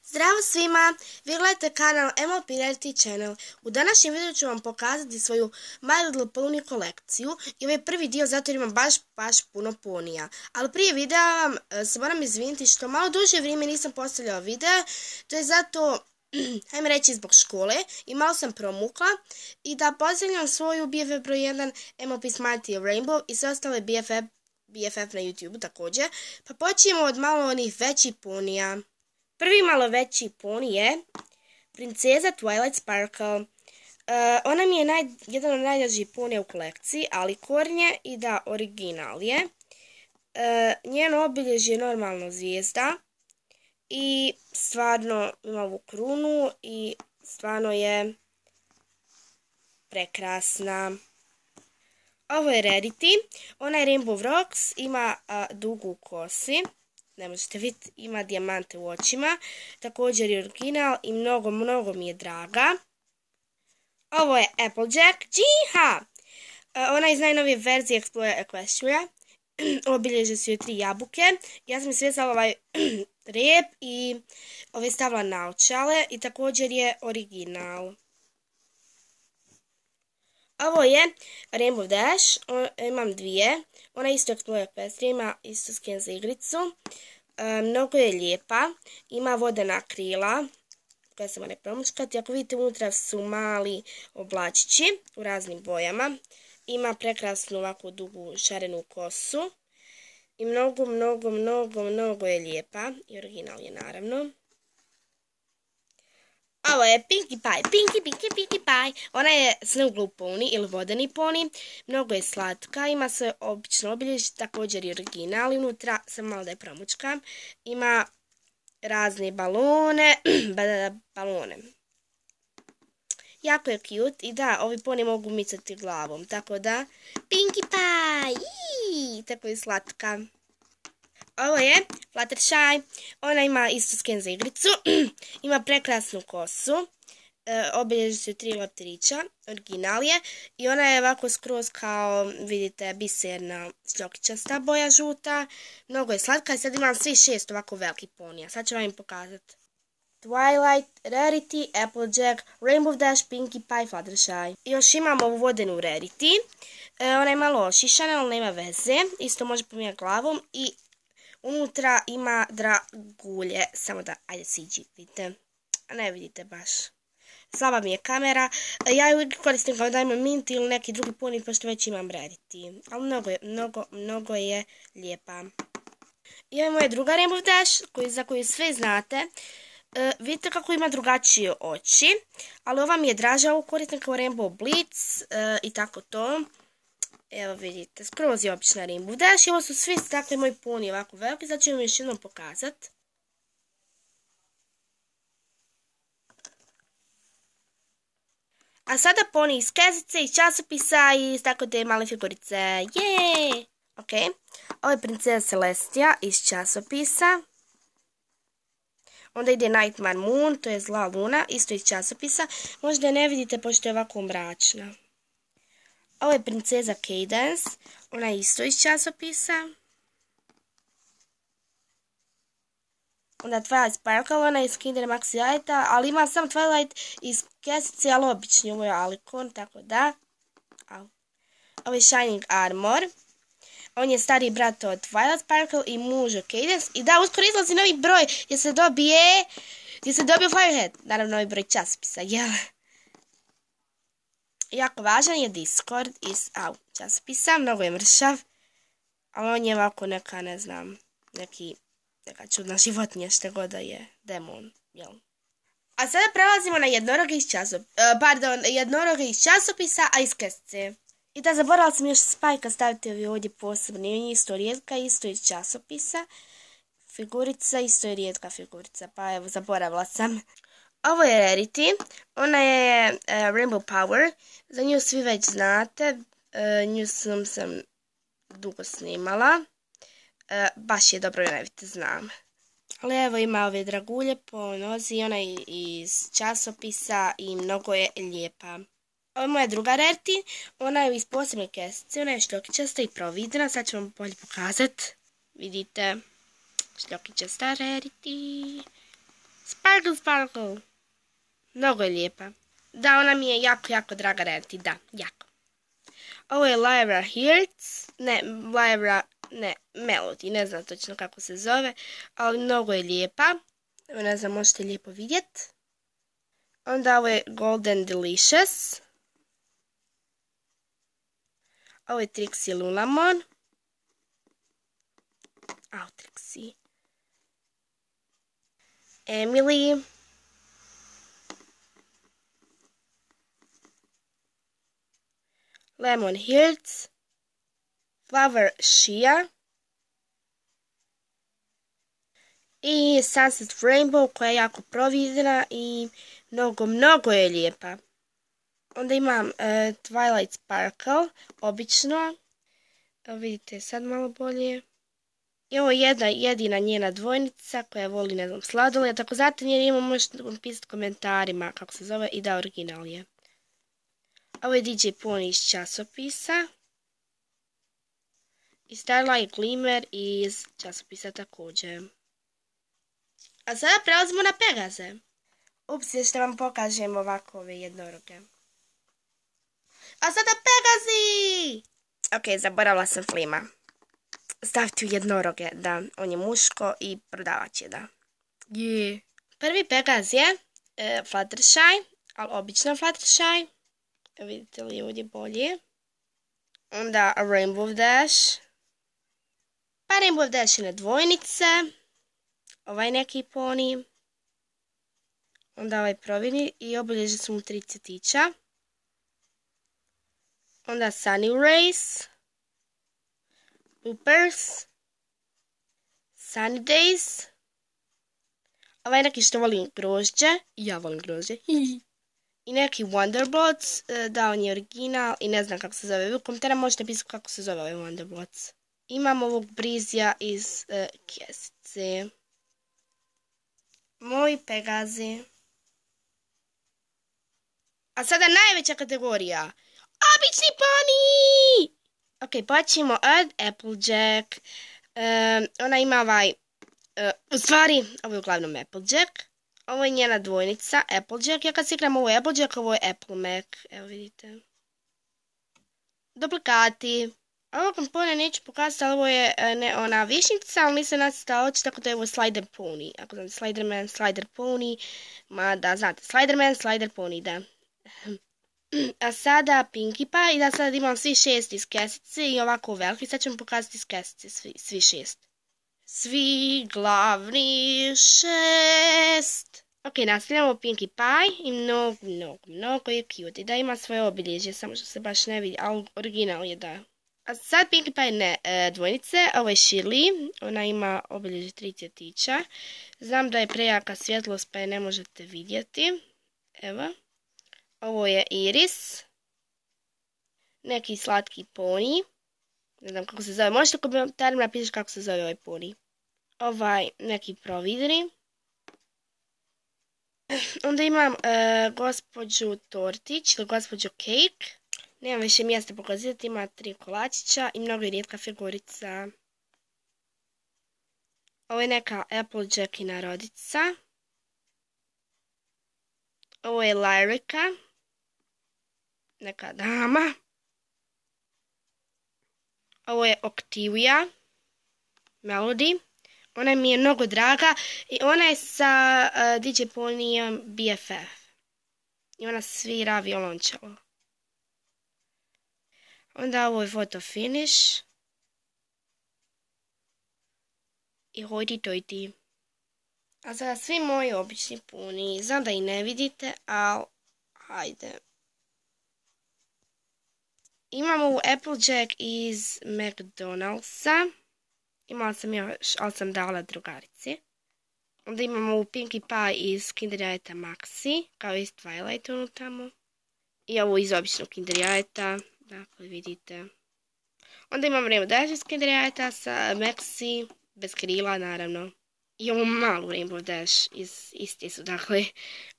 Zdravo svima, vi gledate kanal MLP Reality Channel. U današnjem videu ću vam pokazati svoju My Little Pony kolekciju i ovaj prvi dio zato jer imam baš puno ponija. Ali prije videa vam se moram izviniti što malo duže vrijeme nisam postavljala video, to je zato, ajme reći, zbog škole i malo sam promukla i da pozdravljam svoju BFF broj 1 MLP Smarty Rainbow i sve ostale BFF na YouTube također. Pa počnemo od malo onih većih ponija. Prvi malo veći poni je princeza Twilight Sparkle. Ona mi je jedan od najdražih ponija u kolekciji, ali kornje i da original je. Njeno obilježje je normalno zvijezda i stvarno ima ovu krunu i stvarno je prekrasna. Ovo je Rarity, ona je Rainbow Rocks, ima dugu kosi. Ne možete vidjeti, ima dijamante u očima, također je original i mnogo mi je draga. Ovo je Applejack, džiha! Ona je iz najnovije verzije Explorer Equestria. Obilježe su joj 3 jabuke. Ja sam izvezala ovaj rep i ove stavila naočale i također je original. Ovo je Rainbow Dash, imam dvije. Ona isto Explorer Equestria, ima isto skin za igricu. Mnogo je lijepa, ima vodena krila koja se mora promučkati. Ako vidite, unutra su mali oblačići u raznim bojama. Ima prekrasnu ovako dugu šarenu kosu i mnogo je lijepa i original je naravno. Ovo je Pinkie Pie. Ona je Snow Globe Pony ili vodeni poni. Mnogo je slatka, ima sve obično obilježje, također i original. Unutra sam malo da je promučkam. Ima razne balone. Jako je cute i da, ovi poni mogu micati glavom. Tako da, Pinkie Pie! Tako je slatka. Ovo je Fluttershy, ona ima isto skin za igricu, ima prekrasnu kosu, obilježi su 3 leptirića, original je i ona je ovako skroz kao, vidite, biserna šljokičasta boja žuta, mnogo je slatka i sad imam svi 6 ovako velikih ponija, sad ću vam im pokazati. Twilight, Rarity, Applejack, Rainbow Dash, Pinkie Pie, Fluttershy. I još imam ovu vodenu Rarity, ona je malo ošišana, ali nema veze, isto može pomijati glavom i unutra ima dragulje, samo da, ajde siđi, vidite, a ne vidite baš. Slaba mi je kamera, ja ju koristim kao Diamond Mint ili neki drugi poni, pošto već imam Rarity, ali mnogo je lijepa. I ovo je moja druga Rainbow Dash, za koju sve znate. Vidite kako ima drugačije oči, ali ova mi je draža, ovu koristim kao Rainbow Blitz i tako to. Evo vidite, skroz je obična Rainbow Dash i ovo su svi takve moji poni ovako veliki, sad ću vam još jednom pokazati. A sada poni iz kezice, iz časopisa i iz tako te male figurice. Jeee! Ok, ovo je princeza Celestia iz časopisa. Onda ide Nightmare Moon, to je zla luna, isto iz časopisa. Možda je ne vidite pošto je ovako mračna. Ovo je princeza Cadance, ona je isto iz časopisa. Onda Twilight Sparkle, ona je iz Kinder Maxi jajeta, ali ima sam Twilight iz kesice, ali obični, ovo je Alicon, tako da. Ovo je Shining Armor, on je stariji brat od Twilight Sparkle i muž od Cadance. I da, uskoro izlazi novi broj gdje se dobije Firehead, naravno novi broj časopisa, jel? Jako važan je Discord iz časopisa, mnogo je mršav, ali on je ovako neka, ne znam, neka čudna životinja, što god da je, demon, jel? A sada prelazimo na jednoroge iz časopisa, a iz kesice. I da, zaboravila sam još Spajka staviti ovdje posebno, on je isto rijetka, isto iz časopisa. Figurica, isto je rijetka figurica, pa evo, zaboravila sam. Ovo je Rarity, ona je Rainbow Power, za nju svi već znate, nju sam dugo snimala, baš je dobro, ne vidite, znam. Ali evo ima ove dragulje po nozi, ona je iz časopisa i mnogo je lijepa. Ovo je moja druga Rarity, ona je iz posebne kesice, ona je šljokičasta i providna, sad ću vam bolje pokazati, vidite, šljokičasta Rarity. Sparkle! Sparkle, sparkle. Mnogo je lijepa. Da, ona mi je jako, jako draga Rarity, da, jako. Ovo je Lyra Hearts, ne, Melody, ne znam točno kako se zove, ali mnogo je lijepa. Evo, ne znam, možete lijepo vidjeti. Onda ovo je Golden Delicious. Ovo je Trixie Lulamon. Trixie. Emily. Lemon Hearts. Flower Shea. I Sunset Rainbow koja je jako providna i mnogo je lijepa. Onda imam Twilight Sparkle, obično. Evo vidite sad malo bolje. I ovo je jedina njena dvojnica koja voli, ne znam, sladoled. Ako znate njen ime možete pisati komentarima kako se zove i da original je. Ovo je DJ Pony iz časopisa. I Starlight Glimmer iz časopisa također. A sada prelazimo na Pegaze. Ups, još da vam pokažem ovako ove jednoroge. A sada Pegazi! Ok, zaboravila sam Flima. Staviti u jednoroge, da. On je muško i prodavač je, da. Prvi Pegaz je Fluttershy, ali obično Fluttershy. Vidite li ovdje bolje. Onda Rainbow Dash. Pa Rainbow Dash je na dvojnice. Ovaj neki poni. Onda ovaj providni i obilježje su mu 3 cvjetića. Onda Sunny Rays. Loopers. Sunny Days. Ovaj neki što volim grožđe. Ja volim grožđe. I neki Wonderblots. Da, on je original i ne znam kako se zove. U komentarima možete pisati kako se zove ovaj Wonderblots. Imam ovog Brizija iz kesice. Moji Pegazi. A sada najveća kategorija. Obični poni! Ok, počnemo od Applejack. Ona ima ovaj... u stvari, ovo je uglavnom Applejack. Ovo je njena dvojnica, Applejack. Ja kad se igram ovo je Applejack, ovo je Apple Mac. Evo vidite. Duplikati. Ovo kompone neću pokazati, ali ovo je ona višnjica, ali nisam nacrtala oči, tako da je ovo Slider Pony. Ako znate Sliderman, Slider Pony. Ma da, znate, Sliderman, Slider Pony, da. A sada Pinkie Pie, i da sad imam svi 6 iz kesice i ovako veliki. Sad ćemo pokazati iz kesice svi 6. Svi glavni 6. Ok, nastavljamo Pinkie Pie i mnogo je cute. I da ima svoje obilježje, samo što se baš ne vidi, ali original je da. A sad Pinkie Pie ne dvojnice, ovo je Shirley, ona ima obilježje 3 cvjetića. Znam da je prejaka svjetlost pa je ne možete vidjeti. Evo. Ovo je Iris. Neki slatki poni. Ne znam kako se zove. Možete u komentarima napisati kako se zove ovaj poni. Ovaj neki providni. Onda imam gospođu Tortić ili gospođu Cake. Nemam više mjesta pokazati. Ima 3 kolačića i mnogo je rijetka figurica. Ovo je neka Applejackina rodica. Ovo je Lyrica. Neka dama. Ovo je Octavia. Melody. Ona mi je mnogo draga i ona je sa DJ Ponyjem BFF. I ona svira violončelo. Onda ovo je photo finish. I hojti tojti. A sada svi moji obični puni. Znam da i ne vidite, ali hajde. Imam ovu Applejack iz McDonald'sa. Imala sam još, ali sam dala drugarici. Onda imamo ovu Pinkie Pie iz Kinder Jajeta Maxi, kao iz Twilight tamo. I ovu iz običnog Kinder Jajeta, dakle vidite. Onda imam Rainbow Dash iz Kinder Jajeta sa Maxi, bez krila naravno. I ovu malu Rainbow Dash isti su, dakle,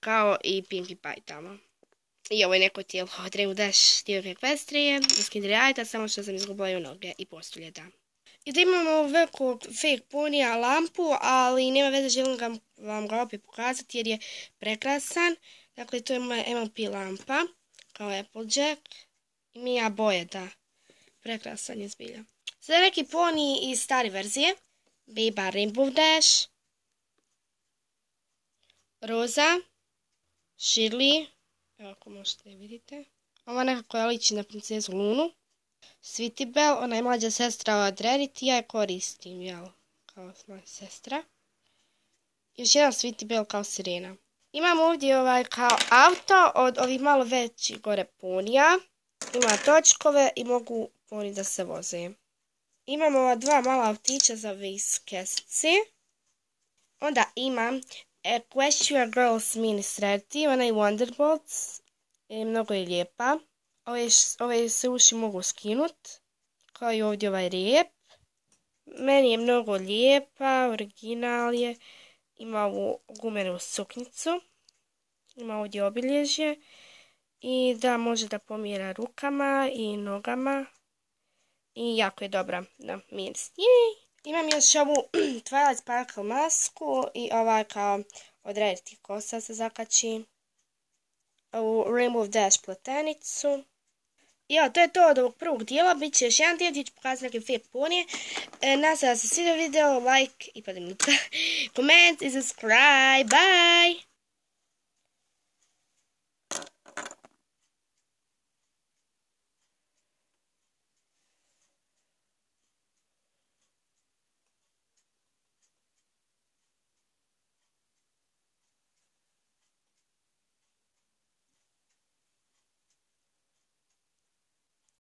kao i Pinkie Pie tamo. I ovo je neko tijelo od Rainbow Dash Stilke Ekvestrije iz Kinder Jajeta, samo što sam izgubila i noge i postulje, da. I da imamo velikog fake ponija lampu, ali nema veze, želim vam ga opet pokazati jer je prekrasan. Dakle, to je moja MLP lampa, kao Applejack. I mija boje, da. Prekrasan je zbilja. Sada neki poni iz stare verzije. Biba Rainbow Dash. Roza. Shirley. Evo ako možete vidite. Ova nekako je liči na princezu Lunu. Sweetie Belle, ona je mlađa sestra od Rarity, ja je koristim, jel, kao moja sestra. Još jedan Sweetie Belle kao sirena. Imam ovdje kao auto od ovih malo većih gore ponija. Ima točkove i mogu poni da se voze. Imam ova dva mala autića za viskesci. Onda imam Equestria Girls mini s Rarity, ona je Wonderbolts. Mnogo je lijepa. Ove se uši mogu skinut, kao i ovdje ovaj rep. Meni je mnogo lijepa, original je. Ima ovu gumenu suknjicu. Ima ovdje obilježje. I da može da pomira rukama i nogama. I jako je dobra na miris. Imam još ovu Twilight Sparkle masku i ovaj kao od Rarity kosa se zakači. Ovu Rainbow Dash pletenicu. I evo, to je to od ovog prvog dijela. Biće još jedan dio gdje ću pokazati neke fake ponije. Nadam se da se svidio video, like i pa da mi koment i subscribe. Bye!